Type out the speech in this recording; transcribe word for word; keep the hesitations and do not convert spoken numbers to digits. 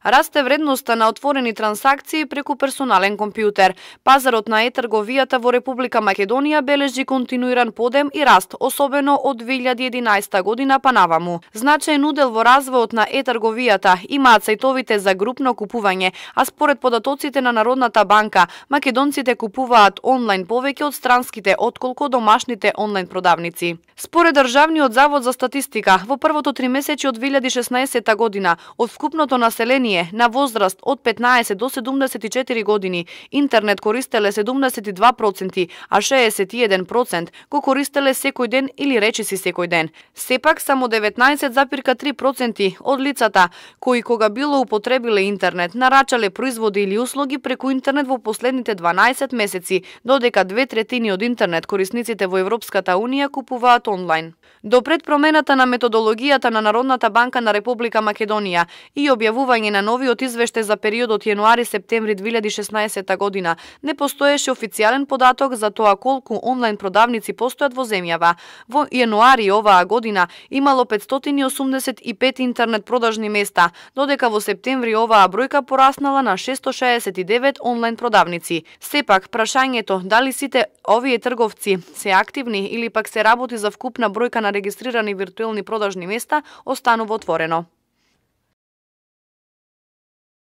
Расте вредноста на отворени трансакции преку персонален компјутер. Пазарот на е-трговијата во Република Македонија бележи континуиран подем и раст, особено од две илјади и единаесета година па наваму. Значаен удел во развојот на е-трговијата имаат сајтовите за групно купување, а според податоците на Народната банка, македонците купуваат онлайн повеќе од странските отколку домашните онлайн продавници. Според Државниот завод за статистика, во првото тримесечје од две илјади и шеснаесета година, од вкупното население на возраст од петнаесет до седумдесет и четири години, интернет користеле седумдесет и два проценти, а шеесет и еден проценти го користеле секој ден или речиси секој ден. Сепак, само деветнаесет запирка три проценти од лицата кои кога било употребиле интернет, нарачале производи или услуги преку интернет во последните дванаесет месеци, додека две третини од интернет корисниците во Европската Унија купуваат онлайн. До пред промената на методологијата на Народната банка на Република Македонија и објавување на новиот извештај за периодот јануари-септември две илјади и шеснаесета година, не постоеше официјален податок за тоа колку онлайн продавници постојат во земјава. Во јануари оваа година имало петстотини и осумдесет и пет интернет продажни места, додека во септември оваа бројка пораснала на шестстотини шеесет и девет онлайн продавници. Сепак, прашањето дали сите овие трговци се активни или пак се работи за вкупна бројка на регистрирани виртуелни продажни места останува отворено.